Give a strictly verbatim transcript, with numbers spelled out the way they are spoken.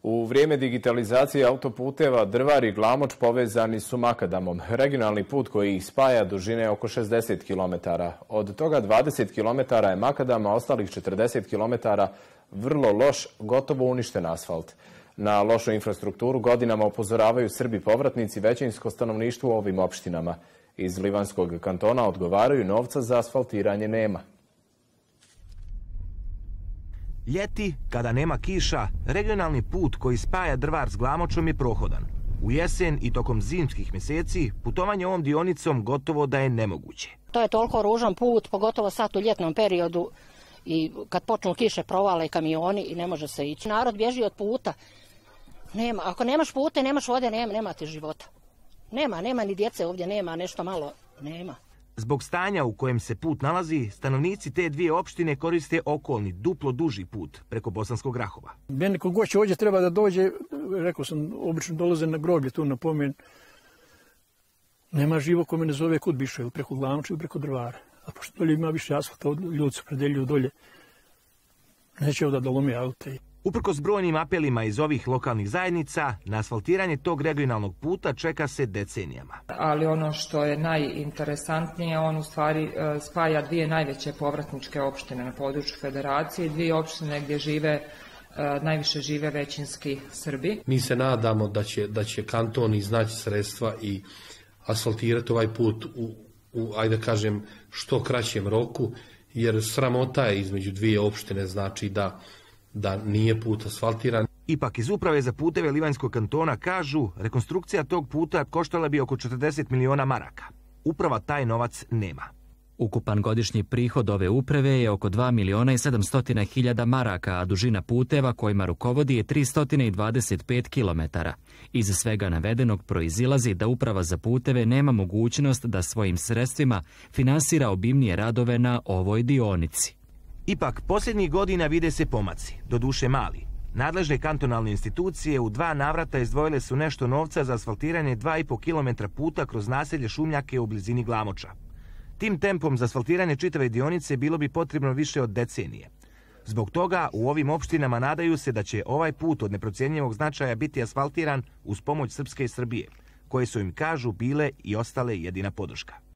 U vrijeme digitalizacije autoputeva Drvar i Glamoč povezani su makadamom. Regionalni put koji ih spaja dužine je oko šezdeset kilometara. Od toga dvadeset kilometara je makadam, a ostalih četrdeset kilometara vrlo loš, gotovo uništen asfalt. Na lošu infrastrukturu godinama upozoravaju Srbi povratnici, većinsko stanovništvo u ovim opštinama. Iz Livanskog kantona odgovaraju, novca za asfaltiranje nema. Ljeti, kada nema kiša, regionalni put koji spaja Drvar s Glamočom je prohodan. U jesen i tokom zimskih mjeseci putovanje ovom dionicom gotovo da je nemoguće. To je toliko ružan put, pogotovo sad u ljetnom periodu i kad počnu kiše provale kamioni i ne može se ići. Narod bježi od puta. Nema, ako nemaš puta i nemaš vode, nema, nema ti života. Nema, nema ni djece ovdje, nema nešto malo, nema. Zbog stanja u kojem se put nalazi, stanovnici te dvije opštine koriste okolni, duplo duži put preko Bosanskog Rahova. Meni ko goće ovdje treba da dođe, rekao sam, obično dolaze na groblje tu na pomen. Nema živo ko me ne zove kud biše, ili preko Glamoča ili preko Drvara. A pošto dolje ima više asfalta, ljudi se predeljuju dolje. Neće ovdje da lome aute. Uprkos brojnim apelima iz ovih lokalnih zajednica, na asfaltiranje tog regionalnog puta čeka se decenijama. Ali ono što je najinteresantnije, on u stvari spaja dvije najveće povratničke opštine na području federacije, dvije opštine gdje žive, najviše žive većinski Srbi. Mi se nadamo da će, da će kanton iznaći sredstva i asfaltirati ovaj put u, u, ajde kažem, što kraćem roku, jer sramota je između dvije opštine, znači da da nije put asfaltiran. Ipak iz Uprave za puteve Livanjskog kantona kažu, rekonstrukcija tog puta koštala bi oko četrdeset miliona maraka. Uprava taj novac nema. Ukupan godišnji prihod ove uprave je oko dva miliona i sedamsto hiljada maraka, a dužina puteva kojima rukovodi je tristo dvadeset pet kilometara. Iz svega navedenog proizilazi da Uprava za puteve nema mogućnost da svojim sredstvima finansira obimnije radove na ovoj dionici. Ipak, posljednjih godina vide se pomaci, doduše mali. Nadležne kantonalne institucije u dva navrata izdvojile su nešto novca za asfaltiranje dva i po kilometra puta kroz naselje Šumljake u blizini Glamoča. Tim tempom za asfaltiranje čitave dionice bilo bi potrebno više od decenije. Zbog toga u ovim opštinama nadaju se da će ovaj put od neprocjenjivog značaja biti asfaltiran uz pomoć Srpske i Srbije, koje su im, kažu, bile i ostale jedina podrška.